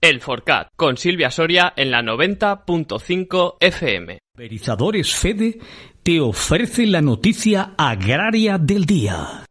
El Forcat, con Silvia Soria en la 90.5 FM. Pulverizadores Fede te ofrece la noticia agraria del día.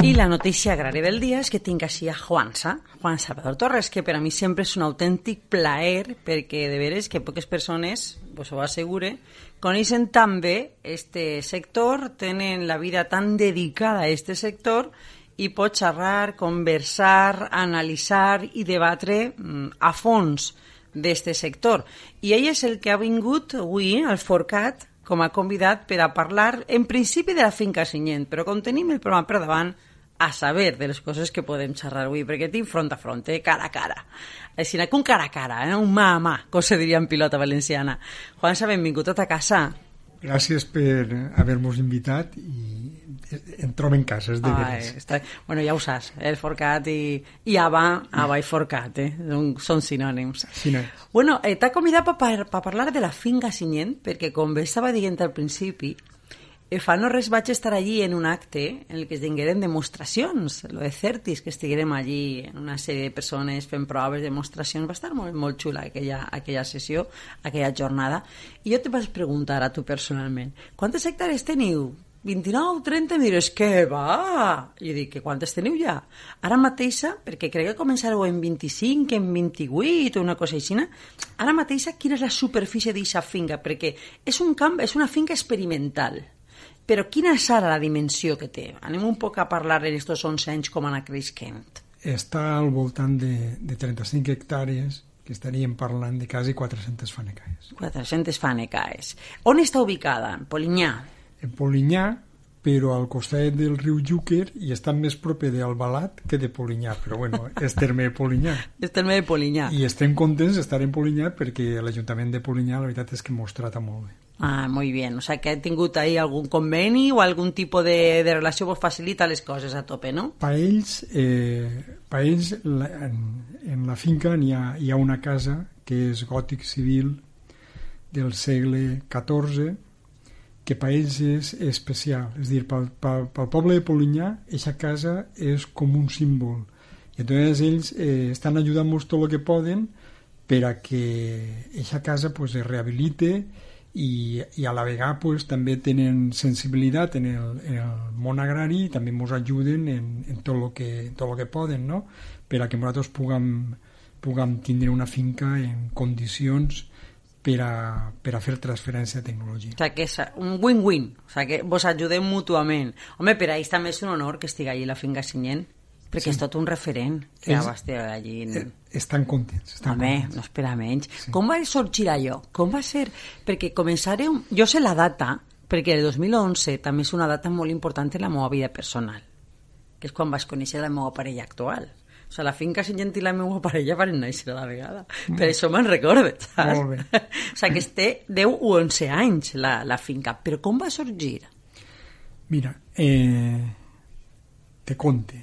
I la notícia agrària del dia és que tinc així a Juan Salvador Torres, que per a mi sempre és un autèntic plaer, perquè de veres que poques persones, pues ho assegure, coneixen tan bé este sector, tenen la vida tan dedicada a este sector i pot xerrar, conversar, analitzar i debatre a fons d'este sector. I ell és el que ha vingut avui al Forcat com a convidat per a parlar, en principi, de la finca Sinyent, però com tenim el programa per davant, a saber de les coses que podem xerrar avui, perquè tinc front a front, cara a cara. Així que un cara a cara, un mà a mà, com se diria en pilota valenciana. Juansa, benvingut a ta casa. Gràcies per haver-nos invitat i em trobo en casa, és de veres. Bueno, ja ho saps, el Forcat i Ava i Forcat, són sinònims. Sinònims. Bueno, t'ha convidat per parlar de la finca Sinyent, perquè com bé estava dient al principi, fa no res vaig estar allí en un acte en el que es tingueren demostracions, lo de Certis, que estiguérem allí en una sèrie de persones fent proves, demostracions, va estar molt, molt xula aquella sessió, aquella jornada, i jo te vaig preguntar a tu personalment, quantes hectàrees teniu? 29, 30, em dius, què va? I dic, que quantes teniu ja? Ara mateixa, perquè crec que començareu en 25, en 28, o una cosa així, ara mateixa, quina és la superfície d'aquesta finca? Perquè és un camp, és una finca experimental. Però quina és ara la dimensió que té? Anem un poc a parlar en aquests 11 anys com ha anat creixent. Està al voltant de 35 hectàrees, que estaríem parlant de quasi 400 fanecaes. 400 fanecaes. On està ubicada? En Polinyà? En Polinyà, però al costat del riu Júquer, i està més proper d'Albalat que de Polinyà, però bueno, és terme de Polinyà. És terme de Polinyà. I estem contents d'estar en Polinyà perquè l'Ajuntament de Polinyà, la veritat és que mos trata molt bé. Ah, muy bien. O sea, que ha tingut ahí algun conveni o algun tipus de relació que facilita les coses a tope, no? Per ells en la finca hi ha una casa que és gòtic civil del segle XIV, que per ells és especial. És a dir, pel poble de Polinyà, aquesta casa és com un símbol. I llavors ells estan ajudant-nos tot el que poden per a que aquesta casa pues, es rehabilite i a la vegada pues, també tenen sensibilitat en el món agrari i també ens ajuden en tot el que poden, no? Per a que nosaltres puguem tindre una finca en condicions per a fer transferència de tecnologia. O sigui, que és un win-win, o sigui, que vos ajudem mútuament. Home, per a ells també és un honor que estigui allí la finca Sinyent, perquè és tot un referent que ja va estar allí. Estan contents. No espera menys. Sí. Com va sorgir allò? Com va ser? Perquè començareu... Jo sé la data, perquè el 2011 també és una data molt important en la meva vida personal, que és quan vaig conèixer la meva parella actual. O sigui, la finca Sinyent i la meva parella van néixer a la vegada. Per això me'n recordo, saps? Molt bé. O sigui, que té 10 o 11 anys la finca. Però com va sorgir? Mira, te conte.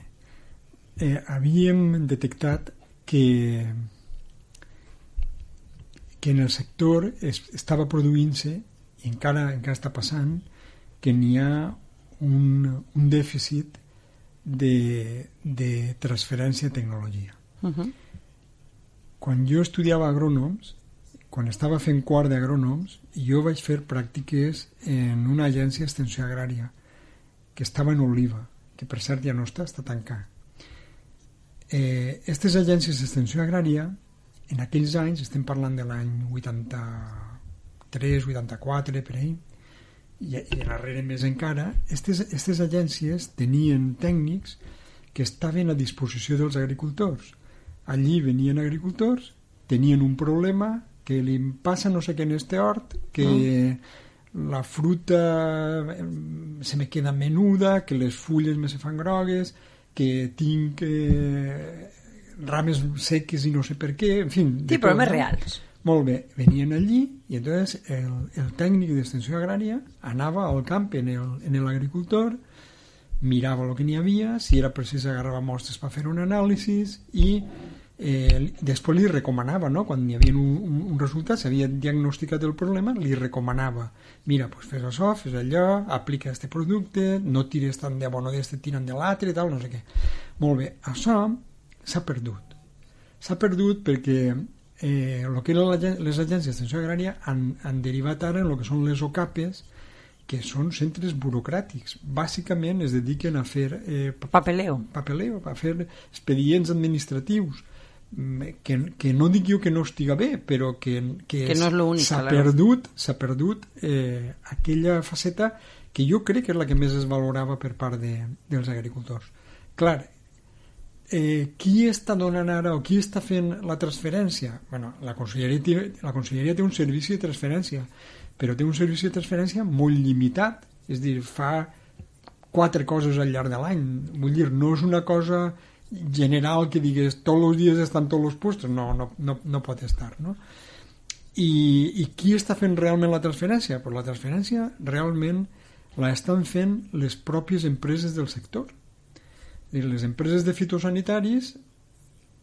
Havíem detectat que en el sector estava produint-se, i encara està passant, que n'hi ha un dèficit de transferència de tecnologia. Quan jo estudiava agrònoms, quan estava fent quart d'agrònoms, jo vaig fer pràctiques en una agència d'extensió agrària que estava en Oliva, que per cert ja no està tancada. Aquestes agències d'extensió agrària, en aquells anys, estem parlant de l'any 83, 84, per ahí, i darrere més encara, aquestes agències tenien tècnics que estaven a disposició dels agricultors. Allí venien agricultors, tenien un problema, que li passa no sé què en este hort, que la fruta se me queda menuda, que les fulles me se fan grogues, que tinc rames seques i no sé per què, en fi... Sí, problemes reals. Molt bé, venien allí i entonces el tècnic d'extensió agrària anava al camp en l'agricultor, mirava el que n'hi havia, si era precís agarrava mostres per fer un anàlisi i després li recomanava, no? Quan hi havia un resultat, s'havia diagnosticat el problema, li recomanava, mira, pues fes això, fes allò, aplica este producte, no tires tant de bon o d'este, tiren de l'altre i tal, no sé què. Molt bé, això s'ha perdut. S'ha perdut perquè el que eren les agències d'extensió agrària han derivat ara en el que són les OCAPes, que són centres burocràtics. Bàsicament es dediquen a fer papeleo, a fer expedients administratius, que no dic jo que no estiga bé, però que no és l'únic, s'ha perdut aquella faceta que jo crec que és la que més es valorava per part dels agricultors. Clar, qui està donant ara o qui està fent la transferència? Bueno, la Conselleria té un servici de transferència, però té un servici de transferència molt limitat, és a dir, fa 4 coses al llarg de l'any. Vull dir, no és una cosa general que digues tots els dies estan tots els puestos, no pot estar, no? I qui està fent realment la transferència? Pues la transferència realment la estan fent les pròpies empreses del sector. És dir, les empreses de fitosanitaris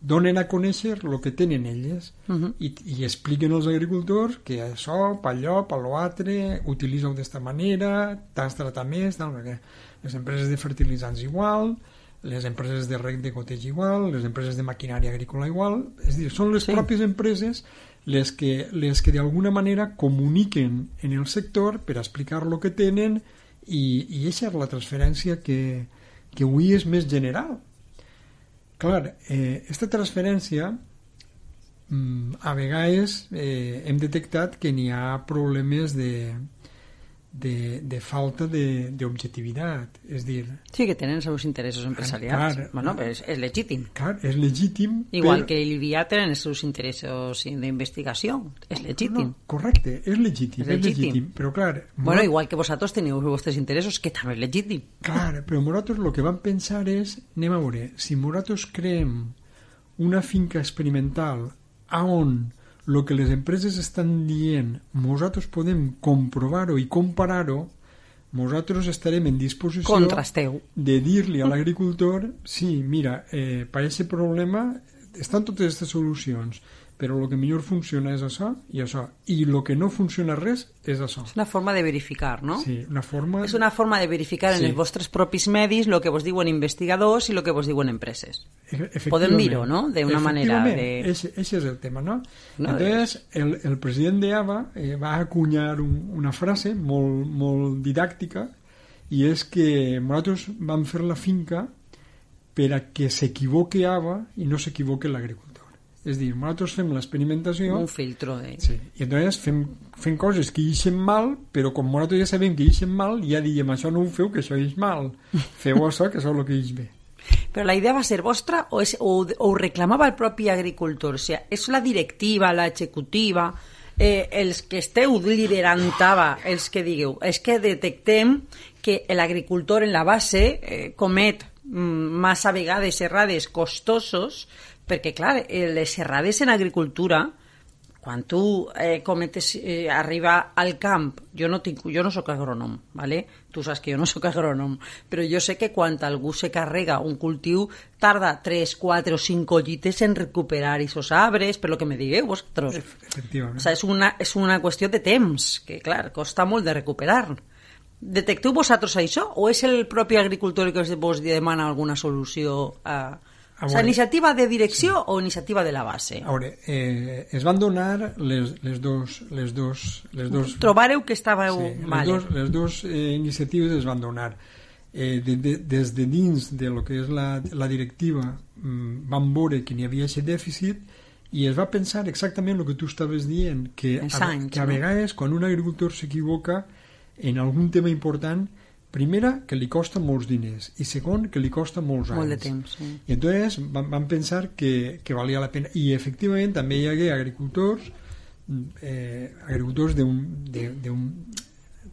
donen a conèixer el que tenen elles i expliquen als agricultors que això, per allò, per l'altre, utilitza-ho d'esta manera, t'has de tratar més, tal, perquè les empreses de fertilitzants igual, les empreses de reg de goteig igual, les empreses de maquinària agrícola igual, és dir, són les pròpies empreses les que d'alguna manera comuniquen en el sector per explicar el que tenen i aquesta és la transferència que avui és més general. Clar, aquesta transferència a vegades hem detectat que n'hi ha problemes de falta d'objectivitat, és dir... Sí, que tenen els seus interessos empresarials. Clar, bueno, és legítim. Clar, és legítim. Igual que l'IBIA tenen els seus interessos d'investigació. És legítim. No, correcte, és legítim. Però clar... Bueno, igual que vosaltres teniu els vostres interessos, que també és legítim. Clar, però nosaltres el que vam pensar és, anem a veure, si nosaltres creem una finca experimental on el que les empreses estan dient nosaltres podem comprovar-ho i comparar-ho, nosaltres estarem en disposició de dir-li a l'agricultor sí, mira, per aquest problema estan totes aquestes solucions, però el que millor funciona és això i això, i el que no funciona res és això. És una forma de verificar, no? Sí, és una forma de verificar en els vostres propis medis el que vos diuen investigadors i el que vos diuen empreses. Podem dir-ho, no? D'una manera... Ese és el tema, no? Entonces, el president d'ABA va acunyar una frase molt didàctica i és que nosaltres vam fer la finca per a que s'equivoque ABA i no s'equivoque l'agricultor. És dir, nosaltres fem l'experimentació... Un filtro de... Sí, i entonces fem coses que ixen mal, però com nosaltres ja sabem que ixen mal, ja diem, això no ho feu, que això ix mal. Feu això, que això és el que ix bé. Però la idea va ser vostra o ho reclamava el propi agricultor? O sigui, és la directiva, l'executiva, els que esteu liderant ABA, els que digueu, és que detectem que l'agricultor en la base comet massa vegades errades costosos, perquè, clar, les errades en agricultura, quan tu cometes, arriba al camp, jo no soc agrònom, ¿vale? Tu saps que jo no soc agrònom, però jo sé que quan algú se carrega un cultiu, tarda 3, 4 o 5 collites en recuperar aquests arbres, per lo que me digueu vosaltres. Efectivament. O sigui, és una qüestió de temps, que, clar, costa molt de recuperar. Detecteu vosaltres això, o és el propi agricultor que vos demana alguna solució a... O sigui, iniciativa de direcció o iniciativa de la base? A veure, es van donar les dos... Trobareu que estàveu... Les dues iniciatives es van donar. Des de dins de lo que és la directiva van veure que n'hi havia aquest dèficit i es va pensar exactament el que tu estaves dient, que a vegades quan un agricultor s'equivoca en algun tema important, primera, que li costa molts diners i segon, que li costa molts anys. Molt de temps, sí. I entonces van pensar que valia la pena. I efectivament també hi hagué agricultors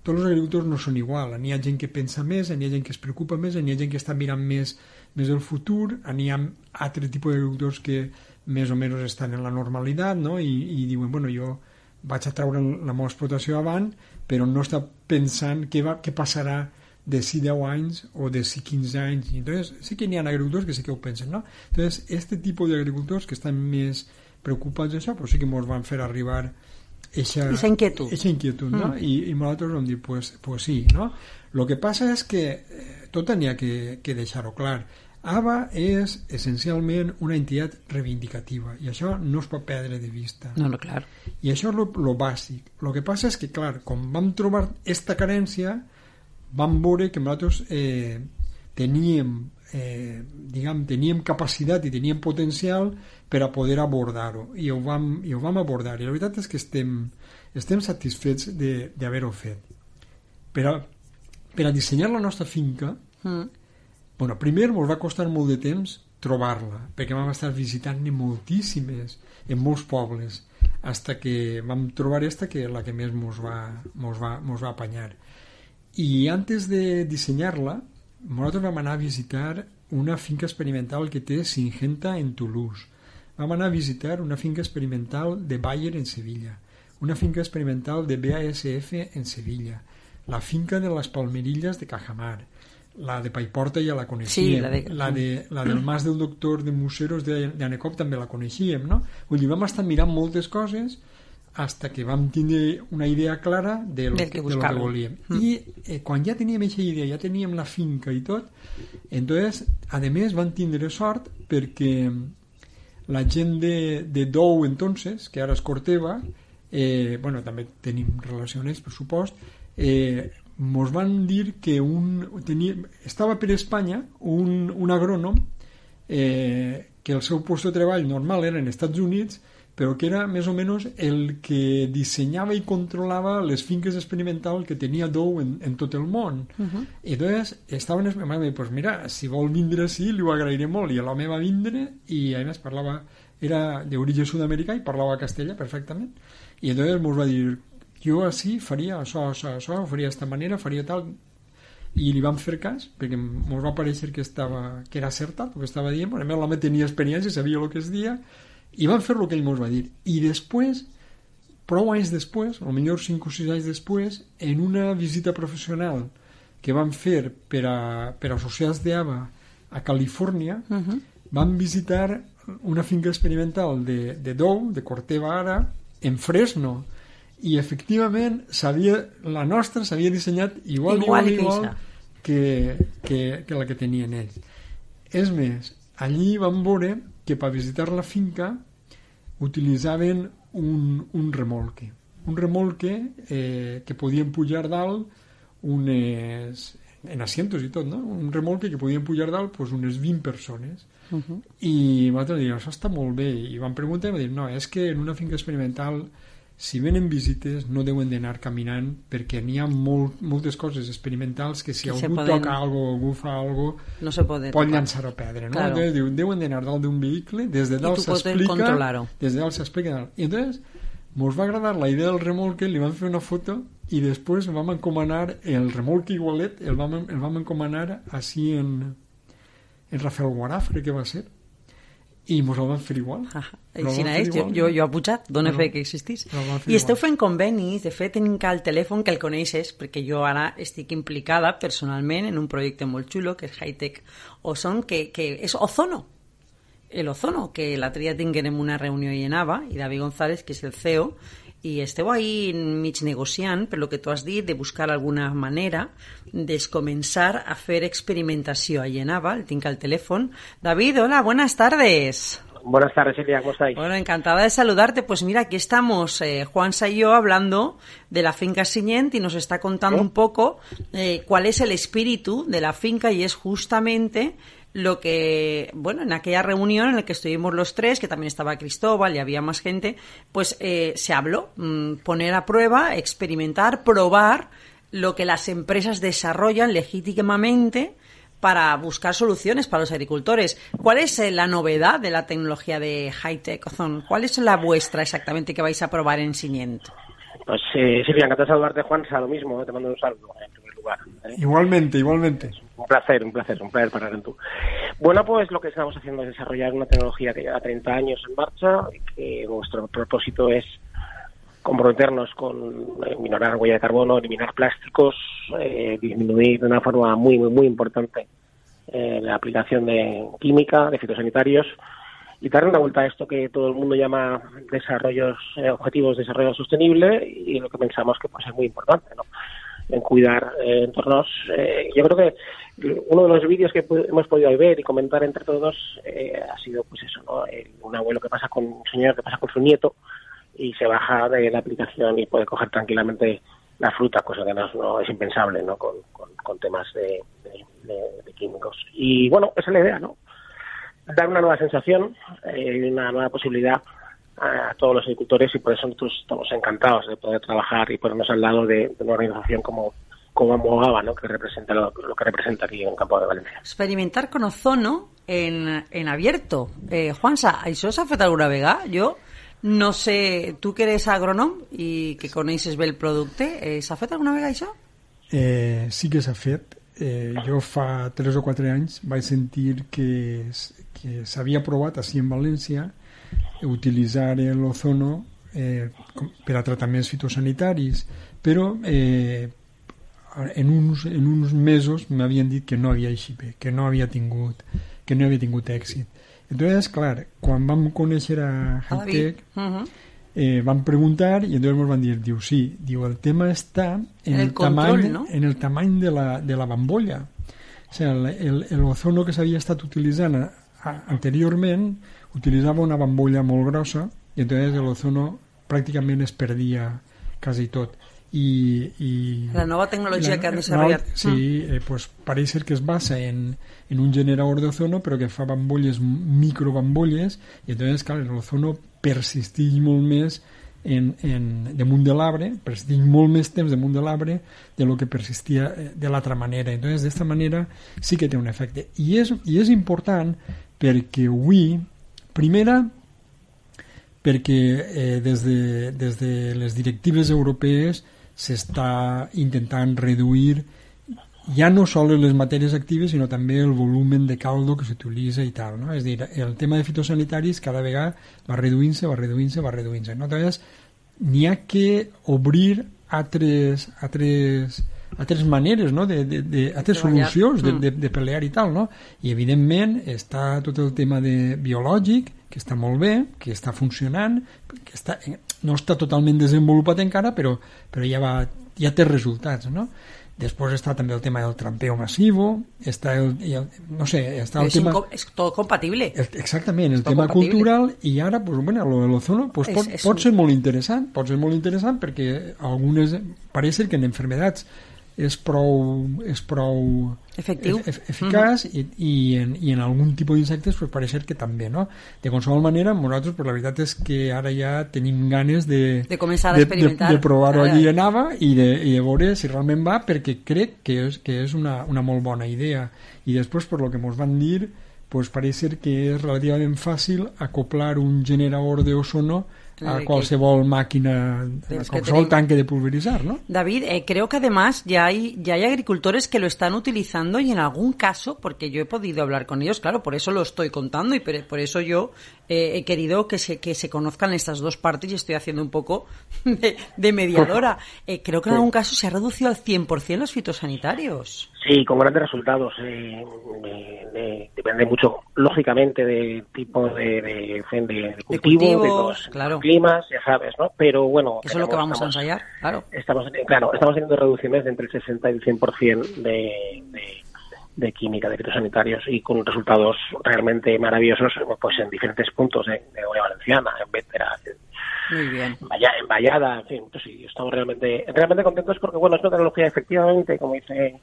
tots els agricultors no són igual. N'hi ha gent que pensa més, n'hi ha gent que es preocupa més, n'hi ha gent que està mirant més el futur, n'hi ha altre tipus d'agricultors que més o menys estan en la normalitat, no? I diuen, bueno, jo vaig a treure la meva explotació avant, però no està pensant què passarà de si 10 anys o de si 15 anys. Entonces, sí que n'hi ha agricultors que sí que ho pensen, no? Entonces, este tipus d'agricultors que estan més preocupats d'això, però sí que ens van fer arribar esa inquietud, no? I nosaltres vam dir, pues sí, no? Lo que passa és que tot n'hi ha que deixar-ho clar. ABA és essencialment una entitat reivindicativa i això no es pot perdre de vista. No, clar. I això és lo bàsic. Lo que passa és que, clar, quan vam trobar esta carència, vam veure que nosaltres teníem capacitat i teníem potencial per a poder abordar-ho i ho vam abordar, i la veritat és que estem satisfets d'haver-ho fet. Per a dissenyar la nostra finca, primer ens va costar molt de temps trobar-la, perquè vam estar visitant-ne moltíssimes en molts pobles, fins que vam trobar esta, que la que més mos va apanyar. I antes de dissenyar-la, nosaltres vam anar a visitar una finca experimental que té Syngenta en Toulouse. Vam anar a visitar una finca experimental de Bayer en Sevilla, una finca experimental de BASF en Sevilla, la finca de les Palmerillas de Cajamar, la de Paiporta ja la coneixíem, la del Mas del Doctor de Museros d'Anecop també la coneixíem, no? Vull dir, vam estar mirant moltes coses fins que vam tindre una idea clara de lo que volíem. I quan ja teníem aquesta idea, ja teníem la finca i tot, entonces, a més, van tindre sort perquè la gent de Dou, entonces, que ara es Corteva, també tenim relacions, per supost, ens van dir que estava per Espanya un agrònom que el seu lloc de treball normal era en Estats Units, però que era més o menys el que dissenyava i controlava les finques experimentals que tenia Dou en tot el món. I llavors estaven esperant, pues mira, si vol vindre així li ho agrairé molt, i l'home va vindre i a més era d'origen sud-americà i parlava castellà perfectament, i llavors ens va dir, jo així faria això, ho faria d'esta manera, faria tal, i li vam fer cas perquè ens va parèixer que era acertat el que estava dient, a més l'home tenia experiència, sabia el que es dia, i vam fer el que ell ens va dir. I després, prou anys després, potser 5 o 6 anys després, en una visita professional que vam fer per associats d'ABA a Califòrnia, vam visitar una finca experimental de Dou, de Corteva ara, en Fresno, i efectivament la nostra s'havia dissenyat igual que la que tenien ells. És més, allí vam veure que per visitar la finca utilitzaven un remolque que podien pujar dalt en asientos i tot, no? Un remolque que podien pujar dalt unes 20 persones. I nosaltres diem, això està molt bé, i vam preguntar i vam dir, no, és que en una finca experimental, si venen visites no deuen d'anar caminant perquè n'hi ha moltes coses experimentals que si algú toca alguna cosa, algú fa alguna cosa, no se pot llançar-ho a perdre, no? Claro. Entonces diu, deuen d'anar dalt d'un vehicle, des de dalt s'explica, i entonces ens va agradar la idea del remolque, li vam fer una foto i després vam encomanar el remolque igualet, el vam encomanar així en Rafael Guaraf, crec que va ser, i ens el van fer igual. Jo he pujat, dona fe que existís. I esteu fent convenis, de fet tenim el telèfon que el coneixes, perquè jo ara estic implicada personalment en un projecte molt xulo que és Hightech Ozone, que és Ozono, el Ozono, que l'altre dia tinguem una reunió i anava, i David González, que és el CEO, i esteu ahí mig negociant, per lo que tu has dit, de buscar alguna manera de començar a fer experimentació. Allí anava, el tinc al telèfon. David, hola, buenas tardes. Buenas tardes, Silvia, ¿cómo estáis? Bueno, encantada de saludarte. Pues mira, aquí estamos Juansa y yo hablando de la finca Sigent y nos está contando un poco cuál es el espíritu de la finca, y es justamente lo que, bueno, en aquella reunión en la que estuvimos los tres, que también estaba Cristóbal y había más gente, pues se habló, poner a prueba, experimentar, probar lo que las empresas desarrollan legítimamente para buscar soluciones para los agricultores. ¿Cuál es la novedad de la tecnología de Hightech Ozone? ¿Cuál es la vuestra exactamente que vais a probar en Sigent? Pues Silvia, encantado de saludarte, Juansa, lo mismo, te mando un saludo en primer lugar. Igualmente. Un placer para tú. Bueno, pues lo que estamos haciendo es desarrollar una tecnología que lleva 30 años en marcha y que nuestro propósito es comprometernos con minorar huella de carbono, eliminar plásticos, disminuir de una forma muy, muy, muy importante la aplicación de química, de fitosanitarios, y dar una vuelta a esto que todo el mundo llama objetivos de desarrollo sostenible, y lo que pensamos que pues es muy importante, ¿no? En cuidar entornos. Yo creo que uno de los vídeos que hemos podido ver y comentar entre todos ha sido pues eso, ¿no? Un abuelo un señor que pasa con su nieto y se baja de la aplicación y puede coger tranquilamente la fruta, cosa que no es impensable, ¿no? Con temas de químicos. Y bueno, esa es la idea, ¿no? Dar una nueva sensación, una nueva posibilidad a todos los agricultores, y por eso nosotros estamos encantados de poder trabajar y ponernos al lado de una organización como Amogaba, ¿no? Que representa lo que representa aquí en Campo de Valencia. Experimentar con ozono en abierto. Juansa, això s'ha fet alguna vegada? Jo no sé, tu que eres agrònom i que coneixes bé el producte, s'ha fet alguna vegada això? Sí que s'ha fet. Jo fa 3 o 4 anys vaig sentir que s'havia provat així en València utilitzar l'ozono per a tractaments fitosanitaris, però en uns mesos m'havien dit que no havia eixit bé, que no havia tingut èxit. Entonces, clar, quan vam conèixer a Hightech, vam preguntar i entonces ens van dir, el tema està en el tamany, ¿no? En el tamany de la bambolla. O sigui, el ozono que s'havia estat utilitzant anteriorment utilitzava una bambolla molt grossa i entonces el ozono pràcticament es perdia quasi tot. La nova tecnologia que han desarrollat. Sí, pues pareix ser que es basa en un generador de ozono, però que fa bambolles, microbambolles, i entonces, clar, el ozono persisteix molt més damunt de l'arbre, persisteix molt més temps damunt de l'arbre de lo que persistia de l'altra manera. Entonces, d'esta manera sí que té un efecte. I és important perquè avui, primera, perquè des de les directives europees s'està intentant reduir ja no sols les matèries actives, sinó també el volum de caldo que s'utilitza i tal, no? És a dir, el tema de fitosanitaris cada vegada va reduint-se. No? Llavors, n'hi ha que obrir altres maneres, no? Altres solucions de pelear i tal, no? I evidentment està tot el tema de biològic, que està molt bé, que està funcionant, que no està totalment desenvolupat encara, però ja té resultats, no? Després està també el tema del trampeo massivo, està el tema... És tot compatible. Exactament, el tema cultural, i ara, pues, bueno, l'ozono pues, pot ser molt interessant, perquè algunes, pareix ser que en enfermedats és prou efectiu, eficaç, i en algun tipus d'insectes pues, pareix ser que també, no? De qualsevol manera, nosaltres pues, la veritat és que ara ja tenim ganes de començar a experimentar, de provar-ho allí a Nava i de veure si realment va, perquè crec que és una molt bona idea. I després, per lo que ens van dir, pues, pareix ser que és relativament fàcil acoplar un generador d'ozono a qualsevol máquina, a qualsevol tanque de pulverizar, ¿no? David, creo que además ya hay agricultores que lo están utilizando, y en algún caso, porque yo he podido hablar con ellos, claro, por eso lo estoy contando y por eso yo he querido que se conozcan estas dos partes y estoy haciendo un poco de mediadora. Creo que en algún caso se ha reducido al 100% los fitosanitarios. Sí, con grandes resultados. Depende mucho, lógicamente, del tipo de cultivo, de los climas, ya sabes, ¿no? Pero bueno... Eso es lo que vamos a ensayar, claro. Estamos teniendo reducciones de entre el 60 y el 100% de química, de fitosanitarios, y con resultados realmente maravillosos, pues en diferentes puntos de Comunidad Valenciana, en Bétera, muy bien. En Vallada, en fin, pues sí, estamos realmente contentos porque, bueno, es una tecnología, efectivamente, como dice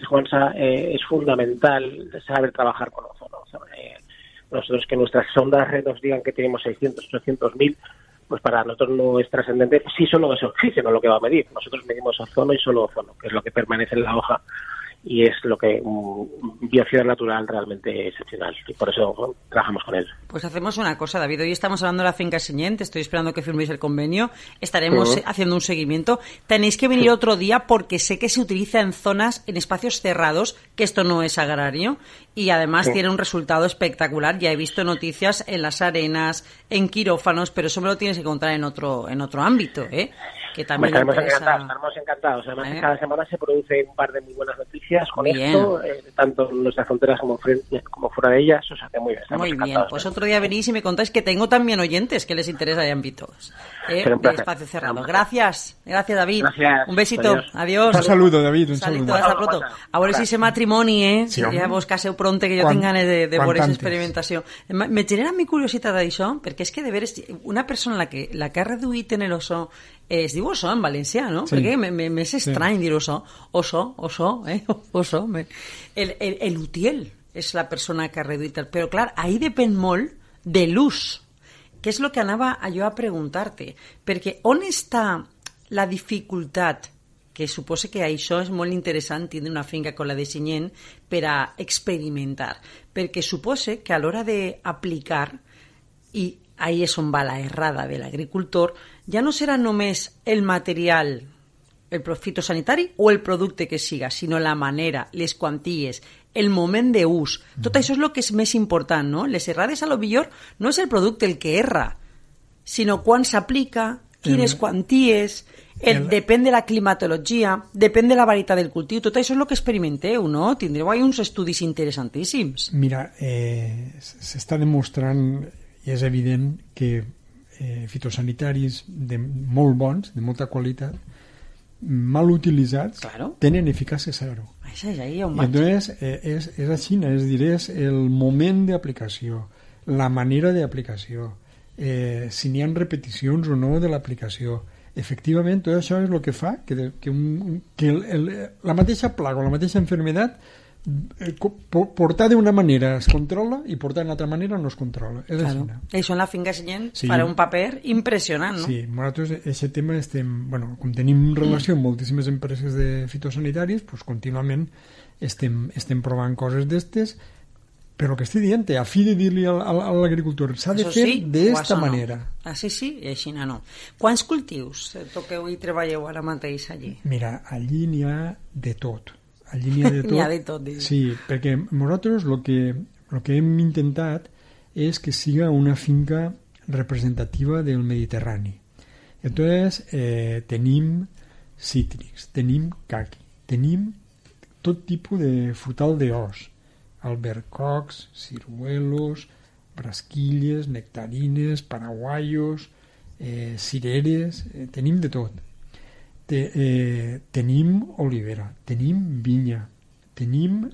Juansa, es fundamental saber trabajar con ozono. Nosotros, que nuestras sondas nos digan que tenemos 600, 800.000, pues para nosotros no es trascendente. Sí, solo es oxígeno lo que va a medir. Nosotros medimos ozono y solo ozono, que es lo que permanece en la hoja, y es lo que biocida natural realmente excepcional, y por eso trabajamos con él. Pues hacemos una cosa, David, hoy estamos hablando de la finca Senyent, estoy esperando que firméis el convenio, estaremos haciendo un seguimiento. Tenéis que venir otro día porque sé que se utiliza en espacios cerrados, que esto no es agrario y además tiene un resultado espectacular. Ya he visto noticias en las arenas, en quirófanos, pero eso me lo tienes que contar en otro ámbito, ¿eh? Que también estaremos encantados. Además, que cada semana se produce un par de muy buenas noticias con esto, tanto en nuestras fronteras como fuera de ellas. O sea, que muy bien. Muy bien, pues otro día venís y me contáis que tengo también oyentes que les interesa de ámbitos de Espacio Cerrado. Gracias, David. Gracias. Un besito. Adiós. Un saludo, David. Un saludo. Hasta pronto. A veure si se matrimoni, Sí, ja vos caseu pronte, que jo tinc ganes de veure aquesta experimentació. Me genera mi curiositat d'això, perquè és que de veres una persona la que ha reduït en el oso es diu oso en valencià, no? Sí. Perquè m'és estrany dir oso. Oso, oso. El utiel és la persona que ha reduït. Però, clar, ahí depèn molt de l'ús, que és el que anava jo a preguntar-te. Perquè on està la dificultat, que suposa que això és molt interessant tindre una finca com la de Sallent per a experimentar, perquè suposa que a l'hora d'aplicar, i ahí és on va la errada de l'agricultor, ja no serà només el material, el fitosanitari o el producte que siga, sinó la manera, les quanties, el moment d'ús. Tot això és el que és més important, no? Les errades, a lo millor, no és el producte el que erra, sinó quan s'aplica, quines quanties, depèn de la climatologia, depèn de la varietat del cultiu, tot això és el que experimenteu, no? Tindreu ahí uns estudis interessantíssims. Mira, s'està demostrant, i és evident, que fitosanitaris molt bons, de molta qualitat, mal utilitzats, tenen eficàcia zero. Això és ahí on vaig. Entonces, és així, és dir, és el moment d'aplicació, la manera d'aplicació, si n'hi ha repeticions o no de l'aplicació. Efectivament, tot això és el que fa que la mateixa plaga o la mateixa enfermedad portar d'una manera es controla i portar d'una altra manera no es controla. És claro. Així. Això en la finca Sallent farà un paper impressionant, no? Sí, nosaltres aquest tema com tenim relació amb moltíssimes empreses de fitosanitaris, pues contínuament estem provant coses d'estes, però que estic dient, a fi de dir-li a l'agricultor, s'ha de fer d'esta manera. Així sí i així no. Quants cultius toqueu i treballeu ara mateix allí? Mira, allí n'hi ha de tot. Allí n'hi ha de tot. N'hi ha de tot. Sí, perquè nosaltres el que hem intentat és que siga una finca representativa del Mediterrani. Entonces, tenim cítrics, tenim caqui, tenim tot tipus de frutal d'os, albercocs, ciruelos, brasquilles, nectarines, paraguayos, cireres, tenim de tot. Tenim olivera, tenim vinya, tenim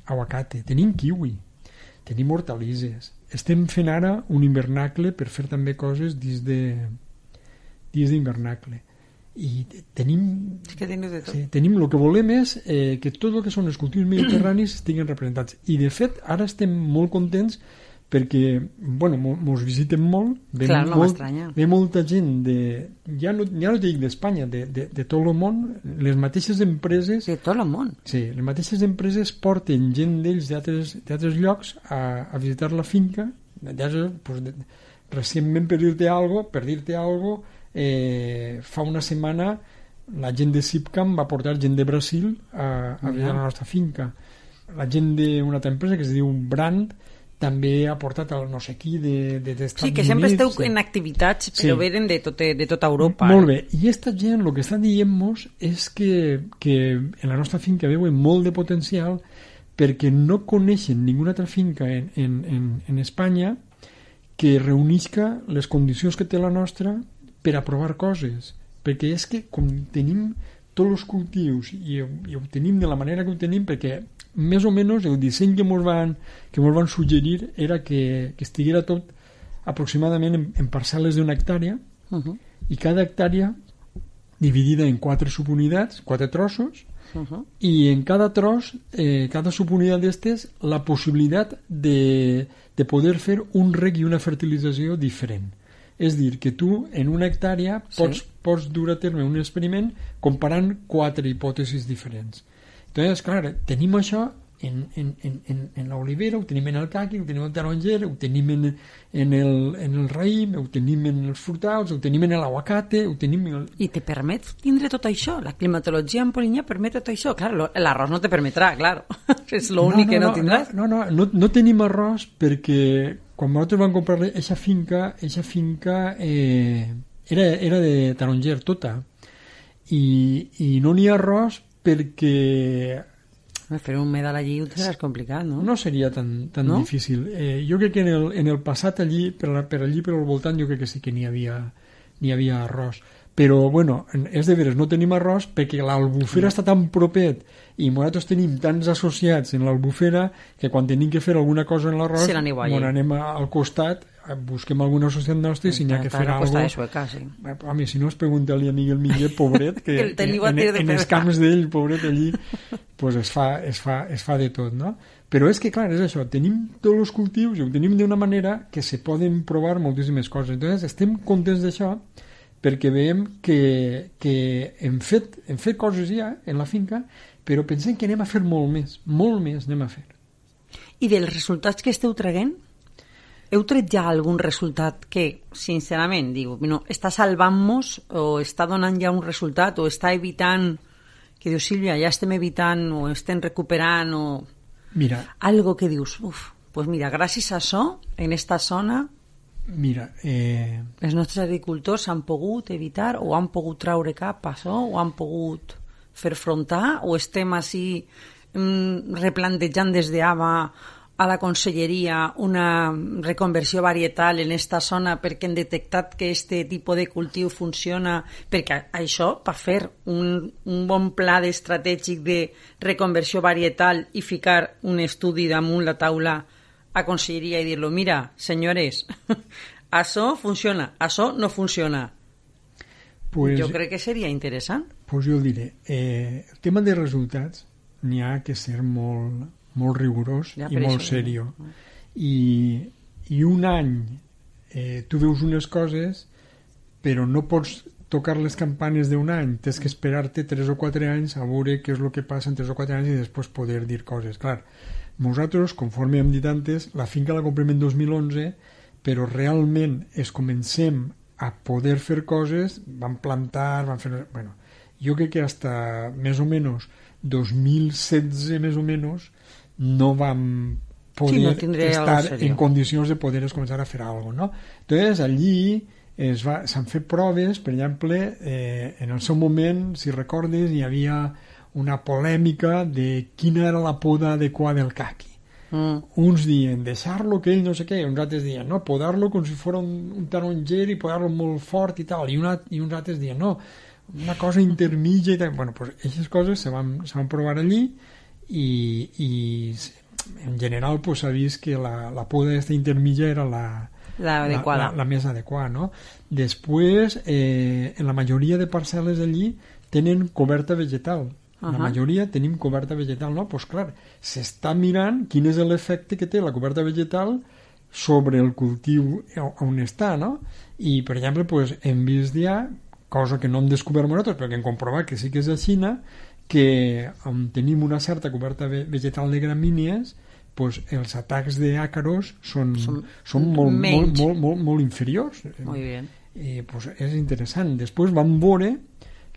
aguacate, tenim kiwi, tenim hortalisses. Estem fent ara un invernacle per fer també coses dins d'invernacle. I tenim... És que teniu de tot. Sí, tenim el que volem és que tot el que són els cultius mediterranis estiguin representats. I de fet, ara estem molt contents perquè, bueno, mos visiten molt. Clar, no m'estranya. Ve molta gent ja no dic d'Espanya, de tot el món, les mateixes empreses... De tot el món? Sí, les mateixes empreses porten gent d'ells d'altres llocs a visitar la finca. Recentment, per dir-te alguna cosa, fa una setmana la gent de Sipcam va portar gent de Brasil a visitar la nostra finca. La gent d'una altra empresa que es diu Brand també ha portat el no sé qui d'Estats Units. Sí, que sempre esteu en activitats, però venen de tota Europa. Molt bé, i aquesta gent el que està dient-nos és que en la nostra finca veuen molt de potencial perquè no coneixen ninguna altra finca en Espanya que reunisca les condicions que té la nostra per a provar coses, perquè és que com tenim tots els cultius i ho tenim de la manera que ho tenim, perquè més o menys el disseny que mos van suggerir era que estiguera tot aproximadament en parcel·les d'una hectàrea i cada hectàrea dividida en 4 subunitats, 4 trossos, i en cada tros, cada subunitat d'estes, la possibilitat de poder fer un reg i una fertilització diferent. És dir, que tu en una hectàrea pots dur a terme un experiment comparant 4 hipòtesis diferents. Entonces, clar, tenim això en l'olivera, ho tenim en el caqui, ho tenim en el taronger, ho tenim en el raïm, ho tenim en els frutals, ho tenim en l'aguacate, ho tenim en el... I te permet tindre tot això? La climatologia en Polinyà permet tot això? Clar, l'arròs no te permetrà, clar. És l'únic que no tindràs. No tenim arròs perquè quan nosaltres vam comprar eixa finca era de taronger tota i no n'hi ha arròs perquè fer un medal allí ho tindràs complicat, no? No seria tan no? difícil. Jo crec que en el passat allí, per allí per al voltant, jo crec que sí que n'hi havia arròs. Però, bueno, és de veres, no tenim arròs perquè l'Albufera està tan propet i nosaltres tenim tants associats en l'Albufera que quan tenim que fer alguna cosa en l'arròs, anem al costat, busquem alguna associat nostre i si n'hi ha que fer alguna cosa... Sí. Home, si no es pregunta-li a Miguel Miguel, pobret, que en els camps d'ell, pobret, allí pues es fa de tot, no? Però és que, clar, és això, tenim tots els cultius i ho tenim d'una manera que se poden provar moltíssimes coses. Entonces, estem contents d'això perquè veiem que hem fet coses ja en la finca, però pensem que anem a fer molt més anem a fer. I dels resultats que esteu traient, heu tret ja algun resultat que, sincerament, diu, no, està salvant-nos o està donant ja un resultat o està evitant, que dius, Sílvia, ja estem evitant o estem recuperant o... Mira. Algo que dius, pues mira, gràcies a això, en esta zona... Mira, els nostres agricultors han pogut evitar o han pogut traure cap a això o han pogut fer frontar o estem així replantejant des d'ABA a la conselleria una reconversió varietal en esta zona perquè han detectat que este tipus de cultiu funciona, perquè això, per fer un bon pla estratègic de reconversió varietal i ficar un estudi damunt la taula a conselleria i dir-lo, mira, senyores, això funciona, això no funciona. Pues, jo crec que seria interessant. Pues jo el diré. El tema de resultats n'hi ha que ser molt rigorós ja, i molt seriós. I un any tu veus unes coses, però no pots tocar les campanes d'un any, tens que esperar-te 3 o 4 anys a veure què és el que passa en 3 o 4 anys i després poder dir coses. Clar, nosaltres, conforme hem dit antes, la finca la comprem en 2011, però realment es comencem a poder fer coses, vam plantar, vam fer... Bueno, jo crec que hasta més o menys 2016 més o menys no vam poder estar en condicions de poder començar a fer alguna cosa, no? Entonces, allí s'han fet proves, per exemple, en el seu moment, si recordes, hi havia una polèmica de quina era la poda adequada del caqui. Uns diuen deixar-lo que ell no sé què, uns altres diuen no, podar-lo com si fos un taronger i podar-lo molt fort i tal, i uns altres diuen no, una cosa intermitja i tal. Bueno, pues aquestes coses se van provar allí i en general pues, s'ha vist que la poda aquesta intermitja era la més adequada, no? Després, en la majoria de parcel·les allí tenen coberta vegetal. La majoria tenim coberta vegetal, no? Doncs clar, s'està mirant quin és l'efecte que té la coberta vegetal sobre el cultiu on està, no? I, per exemple, doncs, hem vist ja, cosa que no hem descobert nosaltres, però que hem comprovat que sí que és a Xina, que on tenim una certa coberta vegetal de gramínies, doncs els atacs d'àcaros són molt inferiors. Molt bé. I doncs és interessant. Després vam veure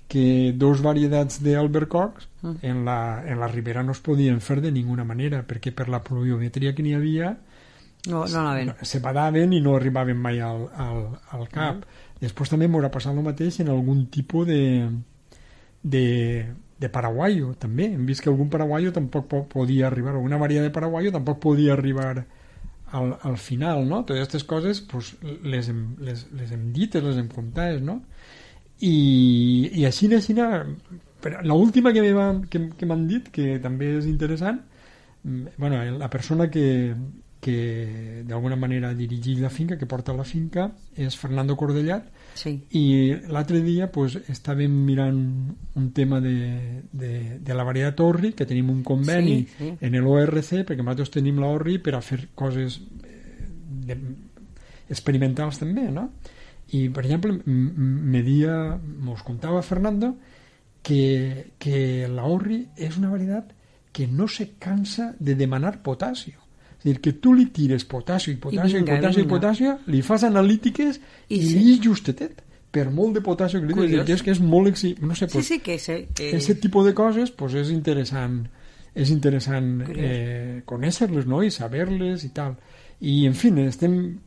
que dos varietats d'albercocs en la ribera no es podien fer de ninguna manera, perquè per la pluviometria que n'hi havia se badaven i no arribaven mai al cap. Després també m'haurà passat el mateix en algun tipus de paraguaio, també. Hem vist que algun paraguaio tampoc podia arribar, alguna varietat de paraguaio tampoc podia arribar al final, no? Totes aquestes coses pues, les hem dites, les hem comptades, no? I així l'última que m'han dit, que també és interessant, bueno, la persona que d'alguna manera dirigeix la finca, que porta la finca, és Fernando Cordellat, sí. I l'altre dia pues, estàvem mirant un tema de la varietat Orri, que tenim un conveni en l'ORC, perquè nosaltres tenim l'Orri per a fer coses experimentals també, no? I, per exemple, mos contava Fernando que la Orri és una varietat que no se cansa de demanar potasio. És a dir, que tu li tires potasio i potasio i potasio, li fas analítiques i li és justetet per molt de potasio que li tires. Que és molt no sé, pues, sí, que aquest tipus de coses pues, és interessant conèixer-les, no? I saber-les i tal. I, en fi, estem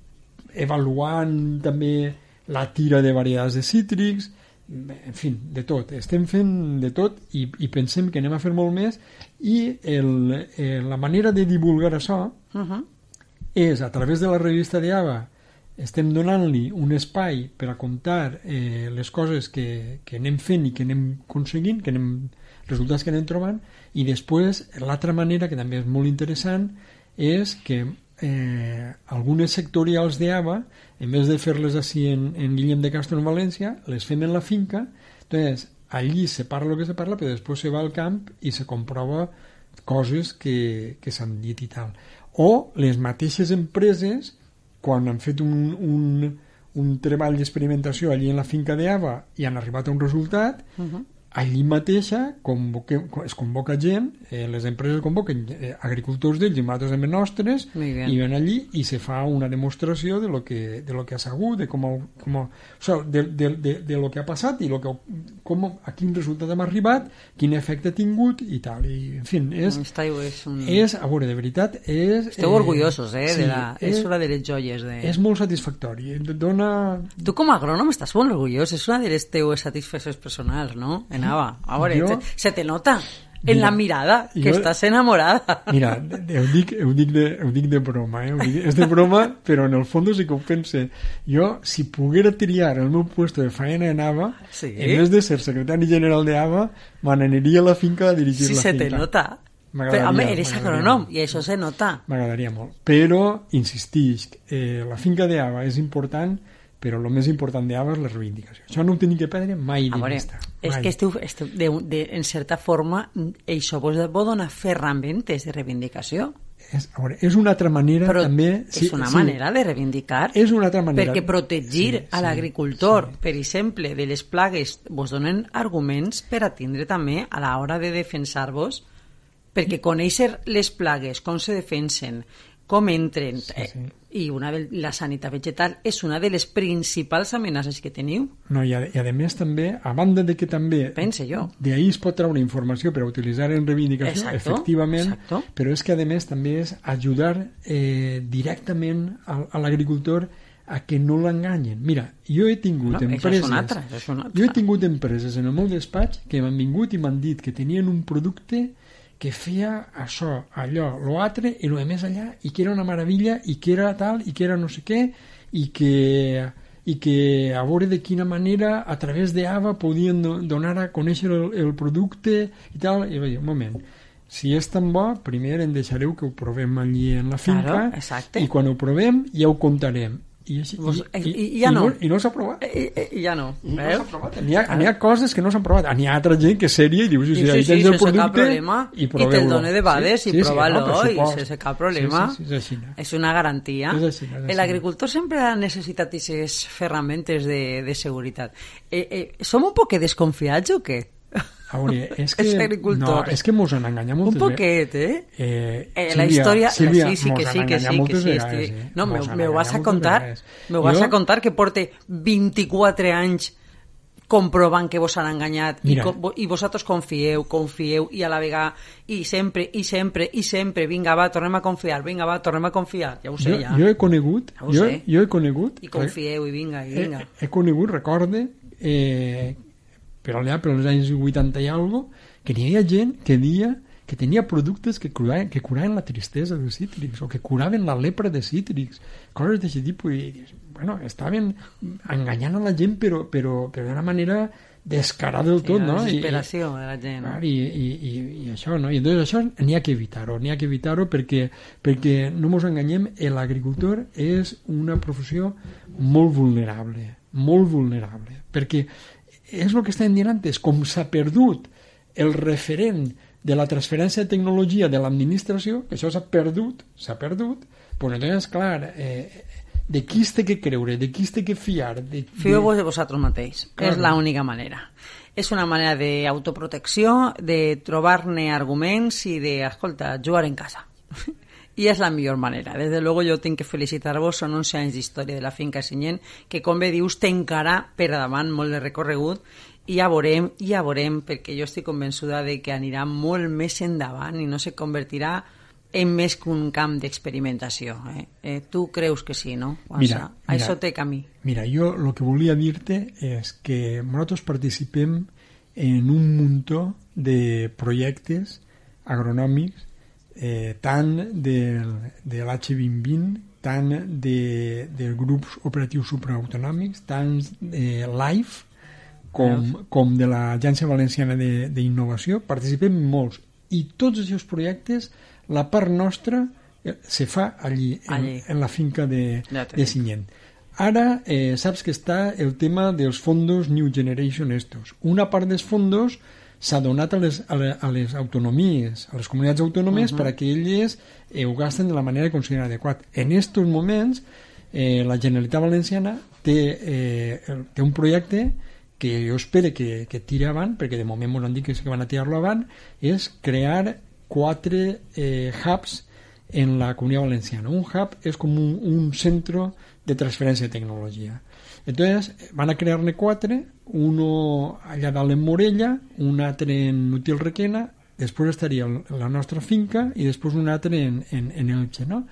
avaluant també la tira de varietats de cítrics, en fi, de tot. Estem fent de tot i pensem que anem a fer molt més i la manera de divulgar això és a través de la revista d'Ava. Estem donant-li un espai per a contar les coses que anem fent i que anem aconseguint, resultats que anem trobant, i després l'altra manera, que també és molt interessant, és que algunes sectorials d'Ava, en vez de fer-les així en Guillem de Castro en València, les fem en la finca. Entonces, allí se parla el que se parla, però després se va al camp i se comprova coses que s'han dit i tal. O les mateixes empreses, quan han fet un treball d'experimentació allí en la finca d'Ava i han arribat a un resultat, allí mateixa es convoca gent, les empreses convoquen agricultors d'ells i nosaltres també nostres, i ven allí i se fa una demostració de lo que ha sabut, de lo que ha passat i a quin resultat hem arribat, quin efecte ha tingut i tal. I, en fi, a veure, de veritat esteu orgullosos, és una de les joies és molt satisfactori. Tu com a agrònom estàs molt orgullós, és una de les teves satisfaccions personals, no? Anava, a veure, se te nota en la mirada que estàs enamorada. Mira, ho dic de broma, és de broma, però en el fons sí que ho pense. Jo, si poguera triar el meu puesto de faena en Ava, en vez de ser secretari general de Ava, me n'aniria a la finca a dirigir la finca. Sí, se te nota. Però, home, eres agrònom i això se nota. M'agradaria molt. Però, insistisc, la finca d'Ava és important, però el més important d'Ava és la reivindicació. Això no ho tenim que perdre mai de vista. És que en certa forma això vos dona ferramentes de reivindicació. És una altra manera però també... És una manera de reivindicar. És una altra manera. Perquè protegir a l'agricultor, per exemple, de les plagues, vos donen arguments per a tindre també a l'hora de defensar-vos, perquè conèixer les plagues, com se defensen, com entren, i la sanitat vegetal és una de les principals amenaces que teniu. No, i a més també, a banda de que també d'ahir es pot treure informació per a utilitzar en reivindicació, efectivament, però és que a més també és ajudar directament a l'agricultor a que no l'enganyen. Mira, jo he tingut empreses en el meu despatx que m'han vingut i m'han dit que tenien un producte que feia això, allò, l'altre, i el més allà, i que era una meravella, i que era tal, i que era no sé què, i que a veure de quina manera a través d'Ava podien donar a conèixer el producte i tal. I vaig dir, un moment, si és tan bo, primer em deixareu que ho provem allí en la finca, i quan ho provem ja ho contarem. I no s'ha provat. I ja no. N'hi ha coses que no s'han provat. N'hi ha altra gent que és sèria i dius, si ahí tens el producte i proveu-lo. I te'l dona de bades i prova-lo i sense cap problema. És una garantia. L'agricultor sempre ha necessitat aquestes ferramentes de seguretat. Som un poc desconfiats o què? A veure, és que mos han enganyat moltes vegades. Un poquet, la història... Sílvia, sí. No, me vas a contar que porte 24 anys comprovant que vos han enganyat i vosaltres confieu i a la vegada i sempre vinga va, tornem a confiar, ja ho sé ja. Jo he conegut i confieu i vinga he conegut, recorde per allà, per als anys 80 i alguna cosa, que n'hi havia gent que deia que tenia productes que curaven la tristesa de cítrics o que curaven la lepra de cítrics, coses d'aquest tipus, i bueno, estaven enganyant a la gent però d'una manera descarada del tot, no? La desesperació de la gent. I això, no? I entonces això n'hi ha que evitar-ho perquè no ens enganyem, l'agricultor és una professió molt vulnerable, perquè és el que estàvem dient antes, com s'ha perdut el referent de la transferència de tecnologia de l'administració, que això s'ha perdut, però entonces, clar, de qui es té que creure, de qui es té que fiar? Fieu-vos de vosaltres mateix, és l'única manera. És una manera d'autoprotecció, de trobar-ne arguments i de, escolta, jugar en casa. I és la millor manera. Des de luego jo tinc que felicitar-vos, són 11 anys d'història de la finca Sinyent, que com bé dius té encara per davant molt de recorregut, i ja veurem, perquè jo estic convençuda de que anirà molt més endavant i no se convertirà en més que un camp d'experimentació. Tu creus que sí, no? Mira, això té camí. Mira, jo el que volia dir-te és que nosaltres participem en un muntó de projectes agronòmics, tant de l'H2020, tant de grups operatius supraautonòmics, tant de LIFE com de l'Agència Valenciana d'Innovació. Participem molts, i tots els projectes, la part nostra se fa allí. En la finca de Sinyent. Ara saps que està el tema dels fondos New Generation estos. Una part dels fondos s'ha donat a les autonomies, a les comunitats autònomes, perquè elles ho gasten de la manera que consideren adequat. En aquests moments, la Generalitat Valenciana té un projecte que jo espero que tiri avant, perquè de moment m'ho han dit que van a tirar-lo avant, és crear 4 hubs en la Comunitat Valenciana. Un hub és com un centro de transferència de tecnologia. Entonces van a crear-ne 4, uno allà dalt en Morella, un altre en Útil Requena, després estaria la nostra finca i després un altre en Elche, no?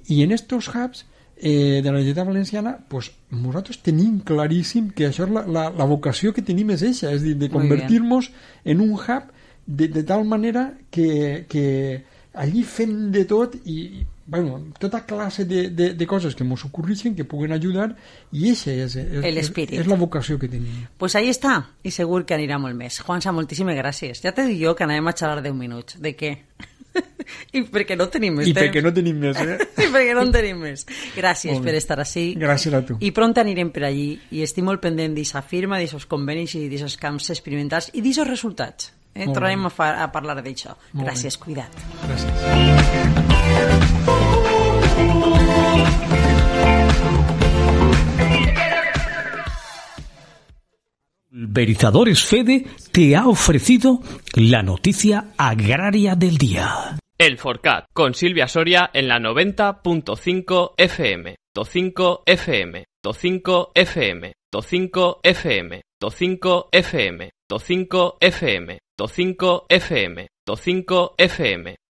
I en estos hubs de la Generalitat Valenciana, pues, nosaltres tenim claríssim que això és la vocació que tenim és eixa, és dir, de convertir-nos en un hub de tal manera que allí fem de tot i bueno, tota classe de coses que ens ocorreixen, que puguen ajudar, i eixa és la vocació que tenim. Pues ahí està, i segur que anirà molt més. Juansa, moltíssimes gràcies. Ja t'he dit jo que anàvem a xerrar 10 minuts. De què? I perquè no tenim més temps. I perquè no tenim més, I perquè no en tenim més. Gràcies per estar així. Gràcies a tu. I pront anirem per allí, i estic molt pendent d'aquesta firma, d'aquests convenis i d'aquests camps experimentals i d'aquests resultats. Tornarem a parlar d'això. Gràcies, cuida't. Gràcies. Pulverizadores Fede te ha ofrecido la noticia agraria del día. El Forcat, con Silvia Soria en la 90.5 FM, 5 FM, 5 FM, 5 FM, 5 FM, 5 FM, 5 FM, 5 FM,